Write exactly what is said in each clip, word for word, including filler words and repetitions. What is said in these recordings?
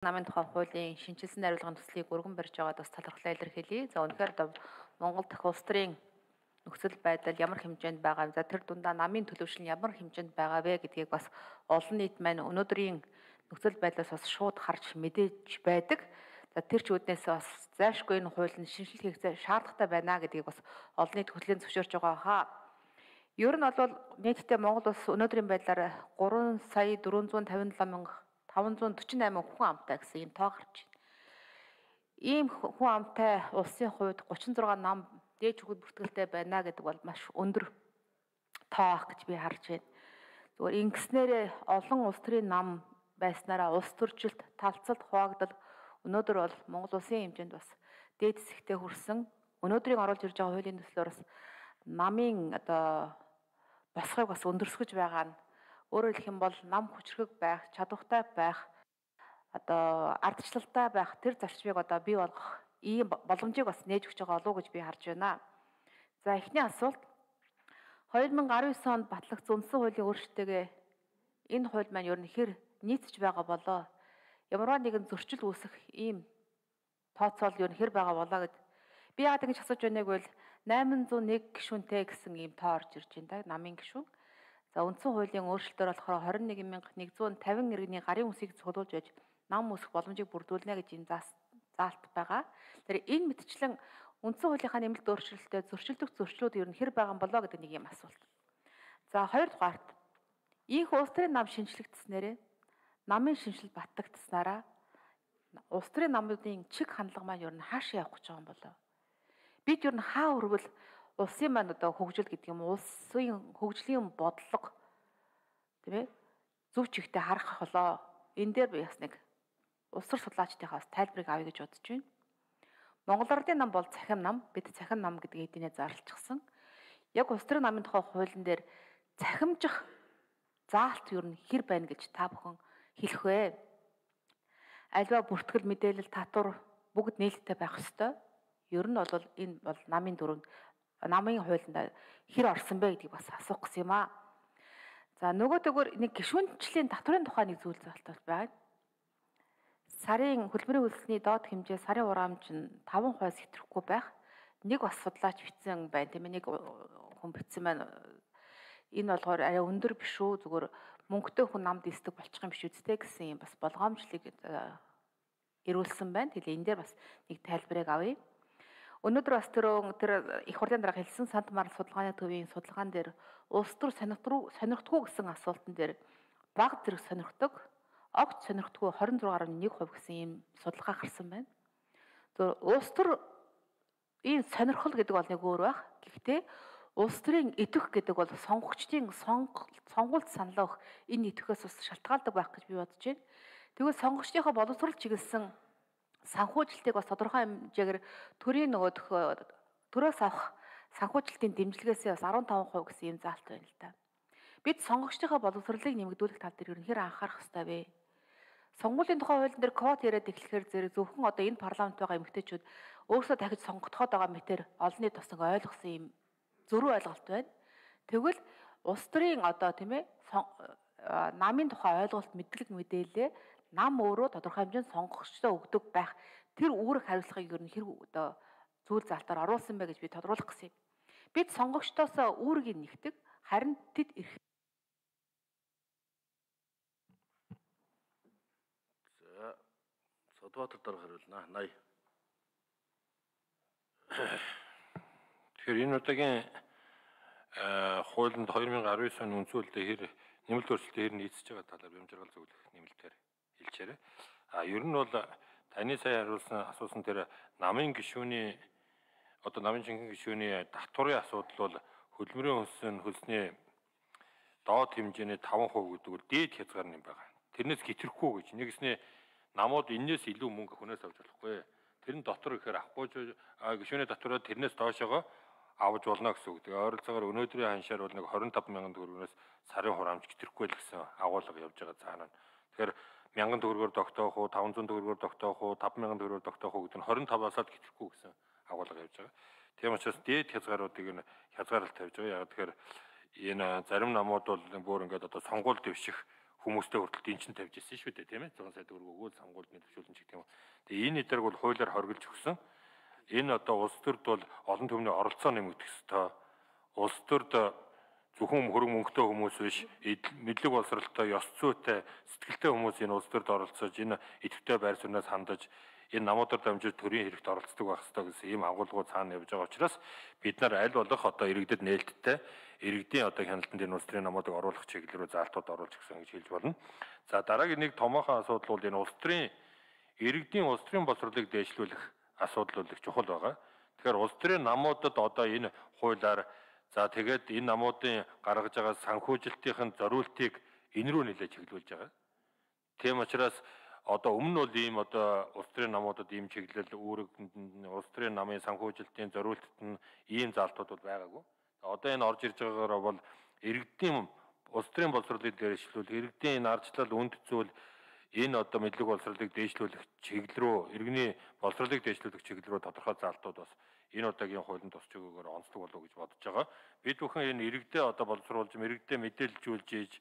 Намын тухай хуулийн шинжилсэн хариулгын төслийг өргөн барьж байгаад бас талархлаа илэрхийлье. За үнэхээр одоо Монгол дахь улс төрийн нөхцөл байдал ямар хэмжээнд байгаа вэ? За тэр дундаа намын төлөвшил нь ямар хэмжээнд байгаа вэ гэдгийг бас олон нийт маань өнөөдрийн нөхцөл байдлаас бас шууд харж мэдээж байдаг. За тэр ч үднээс бас зайлшгүй энэ хуулийн шинжилгээ хийх шаардлагатай байна гэдгийг бас олон нийт хөтөлбөрийн зөвшөөрч байгаа хаа. Ер нь бол нийтдээ Монгол улс өнөөдрийн байдлаар гурван сая дөрвөнзүүн тавин долоо мянга таван зуун дөрвөн восемь хүн амтай гэсэн ийм тоо гарч байна. Ийм хүн амтай улсын хувьд гучин зургаан нам дээд хүүд бүртгэлтэй байна гэдэг бол маш өндөр тоо ах гэж би харж байна. Зүгээр ингэснээрээ олон улс төрийн нам байснараа улс төржилт, талцалт, хуваагдал өнөөдөр бол Монгол улсын хэмжээнд бас дээд хэсэгтээ хүрсэн. Өнөөдрийн оруулж ирж байгаа хуулийн төслөөр бас намын одоо босхойг бас өндөрсгөж байгаа нь өөрөөр хэлэх юм бол нам хүчрэг байх, чадвартай байх, одоо ардчлалтай байх тэр зарчмыг одоо бий болгох ийм боломжийг бас нээж өгч байгаа болов уу гэж би харж байна. За эхний асуулт хоёр мянга арван девять онд батлагдсан үндсэн хуулийн өөрчлөлтөөгөө энэ хууль маань ер нь хэр нийцэж байгаа болоо ямарваа нэгэн зөрчил үүсэх ийм тооцоол ер нь хэр байгаа болоо гэд би яагаад ингэж асууж байгааг бол восемь зуун нэг гишүүнтэй гэсэн ийм тоо орж ирж байна да намын гишүүн. За үндсэн хуулийн өөрчлөлтөөр болохоор двадцать один мянга нэгдүгээр тавин иргэний гарын үсгийг цуглуулж байж нам үүсэх боломжийг бүрдүүлнэ гэж энэ заалт байгаа. Тэр энэ мэтчлэн үндсэн хуулийнхаа нэмэлт өөрчлөлтөд зөрчилдөх зөрчлүүд ер нь хэр байгаа болоо гэдэг нэг юм асуулт. За хоёрдугаарт ийх улс төрийн нам шинжлэгдснээрээ намын шинжил батлагдсанараа улс төрийн намуудын чиг хандлага маань ер нь хаашаа явах гэж байгаа юм болоо. Бид ер нь хаа өргөл улсын маань одоо хөгжил гэдэг юм улсын хөгжлийн бодлого тийм ээ зөв чигтээ харах болоо. Энэ дээр би бас нэг улс төр судлаачдынхаас тайлбарыг авъя гэж бодож байна. Монгол Ардын нам бол цахим нам, бид цахим нам гэдэг эднээ зарлчихсан. Яг улс төрийн намын тухай хуулийн дээр цахимжих заалт ер нь хэр байна гэж та бүхэн хэлэх вэ? Альва бүртгэл мэдээлэл татвар бүгд нээлттэй байх ёстой. Ер нь бол энэ бол намын дөрөв намын хуулинд хэр орсон бэ гэдгийг бас асуух гэсэн юм аа. За нөгөө төгөр нэг гишүүнчлийн татврын тухай нэг зүйл залтал байна. Сарын хөдөлмөрийн үйлсний доод хэмжээ сарын хураамж нь таван хувиас хэтрэхгүй байх. Нэг бас судлаач бичсэн байна тийм ээ нэг хүн бичсэн байна. Энэ болохоор арай өндөр биш үү зүгээр мөнгөтэй хүн намд эсдэг болчих юм биш үстэй гэсэн юм бас болгоомжлыг ирүүлсэн байна. Тэгэхээр энэ дээр бас нэг тайлбарыг авъя. Өнөөдөр бас тэр тэр их хурлын дарга хэлсэн Сант Марл судалгааны төвийн судалгаан дээр улс төр сонирхдгүй гэсэн асуултан дээр баг зэрэг сонирхдог, огт сонирхдгүй двадцать шесть гаруй нэг хувь гэсэн ийм судалгаа гарсан байна. Зөв улс төр ийм сонирхол гэдэг бол нэг өөр байх. Гэхдээ улс төрийн идэх гэдэг бол сонгогчдын сонгуульд санал өгөх энэ идэхээс бас шалтгаалдаг байх гэж би бодож байна. Тэгвэл сонгогчдынхаа боловсрол чиглэсэн санхүүжилтийг бас тодорхой хэмжээгээр төрийн нөгөөх төрөөс авах санхүүжилтийн дэмжлэгээс бас арван таван хувь гэсэн юм заалт байна л да. Бид сонгогчдынхаа боловсролыг нэмэгдүүлэх тал дээр ер нь хэр анхаарах ёстой вэ? Сонгуулийн тухай хуулийн дээр квот яриад эхлэхээр зэрэг зөвхөн одоо энэ парламент байгаа эмэгтэйчүүд өөрсдөө дахиж сонгогдоход байгаа мэтэр олонний тус нэг ойлгосон юм зөрүү ойлголт байна. Тэгвэл улс төрийн одоо тийм ээ намын тухай ойлголт мэдлэг мэдээлэл нам өөрөө тодорхой хэмжээнд сонгогчдод өгдөг байх тэр үүрэг хариуцлагыг ер нь хэрэг одоо зүйл залтаар оруулсан бай гэж би тодруулах гэсэн юм. Бид сонгогчдоос үүргийг нэгтгэх харин тэд ирэх. За Содбаатар дарга хариулна. Наяа. Тэгэхээр энэ удаагийн хуулинд хоёр мянга арван девять оны үндсэн хуулинд хэр нэмэлт өөрчлөлтөөр хэр нийцэж байгаа талаар бямжиргал зөвлөх нэмэлтээр хэлчихээрэй. А ер нь бол таны сая хариулсан асуусан тэр намын гишүүний одоо намын жинхэнэ гишүүний татварын асуудал бол хөдөлмөрийн хөлсөн хөлсний доод хэмжээний таван хувь гэдэг бол дээд хязгаар юм байна. Тэрнээс хэтрэхгүй гэж нэгэснээ намууд энээс илүү мөнгө хүнээс авч болохгүй. Тэрэн дотор ихээр авахгүй гишүүний татвараа тэрнээс доошоо авч болно гэсэн үг. Тэгээ ойролцоогоор өнөөдрийн ханшаар бол нэг двадцать пять мянган төгрөгөөс сарын хураамж хэтрэхгүй л гэсэн агуулга явж байгаа цаана. Тэгэхээр мянган төгрөгөөр тогтоох уу, таван зуун төгрөгөөр тогтоох уу, таван мянган төгрөгөөр тогтоох уу гэдэг нь двадцать пять-аас л хэтрэхгүй гэсэн агуулга явж байгаа. Тийм учраас дээд хязгааруудыг нь хязгаарлалт тавьж байгаа. Яг тэгэхээр энэ зарим намууд бол бүр ингээд одоо сонгуул дэвших хүмүүстэй хүртэл дэнчин тавьж ирсэн шүү дээ, тийм ээ. зуун сая төгрөг өгөөл сонгуульд нөлөөлж гэх юм. Тэгээ энэ эдрэг бол хуулиар хоригдж өгсөн. Энэ одоо улс төрд бол олон түмний оролцоо нэмэгдэх ёстой. Улс төрд зөвхөн хөрөнгө мөнгөтэй хүмүүс биш, мэдлэг боловсралтай, ёс зүйтэй, сэтгэлтэй хүмүүс энэ улс төрд оролцож, энэ идэвхтэй байр сууриас хандаж, энэ намуудаар дамжиж төрийн хэрэгт оролцдог байх ёстой гэсэн ийм агуулгууд цаана явж байгаа учраас бид нар аль болох одоо иргэдэд нээлттэй иргэдийн одоо хяналтанд энэ улс төрийн намуудыг оруулах чиглэл рүү заалтууд оруулж гисэн гэж хэлж болно. За дараагийн нэг томоохон асуудал бол энэ улс төрийн иргэдийн улс төрийн боловсролыг дээшлүүлэх асуудал бол их чухал байгаа. Тэгэхээр улс төрийн намуудад одоо энэ хуулиар за тэгээд энэ намуудын гаргаж байгаа санхүүжилтийн зориултыг энэ рүү нэлээд чиглүүлж байгаа. Тийм учраас одоо өмнө нь бол ийм одоо улс төрийн намуудад ийм чиглэл үүрэг улс төрийн намын санхүүжилтийн зориултад нь ийм заалтууд бол байгаагүй. Одоо энэ орж ирж байгаагаар бол иргэдийн улс төрийн боловсролыг дээшлүүлэх, иргэдийн энэ ардчлал үнд зүйл энэ одоо мэдлэг боловсролыг дээшлүүлэх чиглэл рүү, иргэний боловсролыг дээшлүүлэх чиглэл рүү тодорхой заалтууд бас энэ удаагийн хуулинд тусч өгөөгөр онцлог болов уу гэж бодож байгаа. Бид бүхэн энэ иргэдээ одоо боловсруулж, иргэдээ мэдээлжүүлж ийж,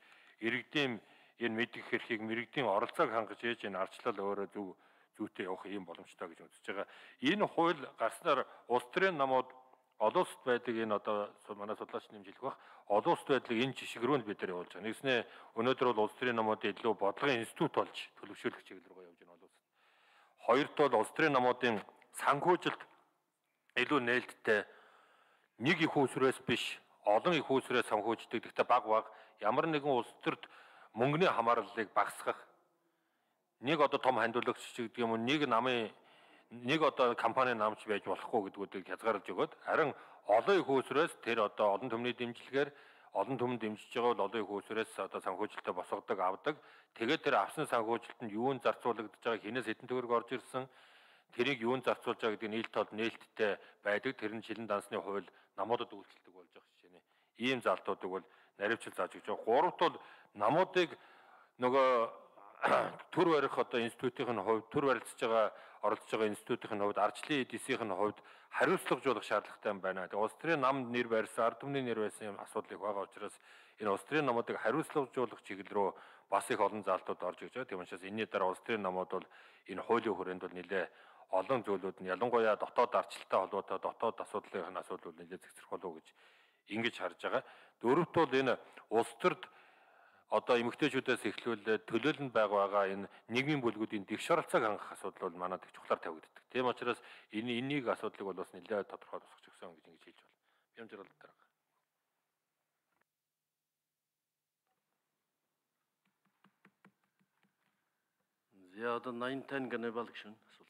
иргэдийн энэ мэдих эрхийг иргэдийн оролцоог хангаж ийж энэ ардчлал өөрөө зөв зүйтэй явах юм боломжтой гэж үзэж байгаа. Энэ хууль гарснаар улс төрийн намууд олон улсад байдаг энэ одоо манай судлаач нэмжлэх бах олон улсад байдлыг энэ жишг рүү бид нар явуулж байгаа. Нэгснээ өнөөдөр бол улс төрийн намуудын илүү бодлогын институт болж төлөвшөөлөх чиглэл рүү явж байна олон улсад. Хоёрт бол улс төрийн намуудын санхүүжилт илүү нээлттэй нэг их усрээс биш олон их усрээс санхүүждэг. Гэхдээ баг баг ямар нэгэн улс төрд мөнгөний хамаарлалыг багасгах нэг одоо том хандуулагч гэдэг юм уу нэг намын нэг одоо компани намч байж болохгүй гэдгүүдийг хязгаарлаж өгöd харин олон их усрээс тэр одоо олон түмний дэмжлэгээр олон түмэн дэмжиж байгаа бол олон их усрээс одоо санхүүжилтөд босгодог авдаг. Тэгээд тэр авсан санхүүжилтанд юунд зарцуулагдаж байгаа, хинээс хэдэн төгрөг орж ирсэн, тэрийг юунд зарцуулж байгаа гэдэг нийлт тод нээлттэй байдаг. Тэр нь шилэн дансны хууль намуудад үйлчлдэг болж байгаа жишээ. Ийм залтуудыг бол наривчл зааж өгч байгаа. Гуравт бол намуудыг нөгөө төр барих одоо институтын хувьд төр барилцж байгаа оролцож байгаа институтын хувьд ардчлалын эдисийн хувьд хариуцлагажуулах шаардлагатай юм байна. Тэгээ улс төрийн намд нэр барьсан, ард түмний нэр барьсан юм асуудал их байгаа учраас энэ улс төрийн намуудыг хариуцлагажуулах чиглэл рүү бас их олон заалтууд орж иж байгаа. Тийм учраас энэний дараа улс төрийн намууд бол энэ хуулийн хүрээнд бол нэлээ олон зүйлүүд нь ялангуяа дотоод ардчлалтай холбоотой дотоод асуудлын асуудал бол нэлээ зэгцрэх болов уу гэж ингэж харж байгаа. Дөрөвт бол энэ улс төрд одоо эмэгтэйчүүдээс эхлүүлээд төлөөлөнд байгаа энэ нийгмийн бүлгүүдийн дэвш оролцоог хангах асуудал бол манайд их чухлаар тавигддаг. Тийм учраас энэ энийг асуудлыг бол бас нэлээд тодорхой тусгаж өгсөн гэж ингэж хэлж байна. Бямжрал дараа. За одоо найн тань гэнэ балгшин асуулт.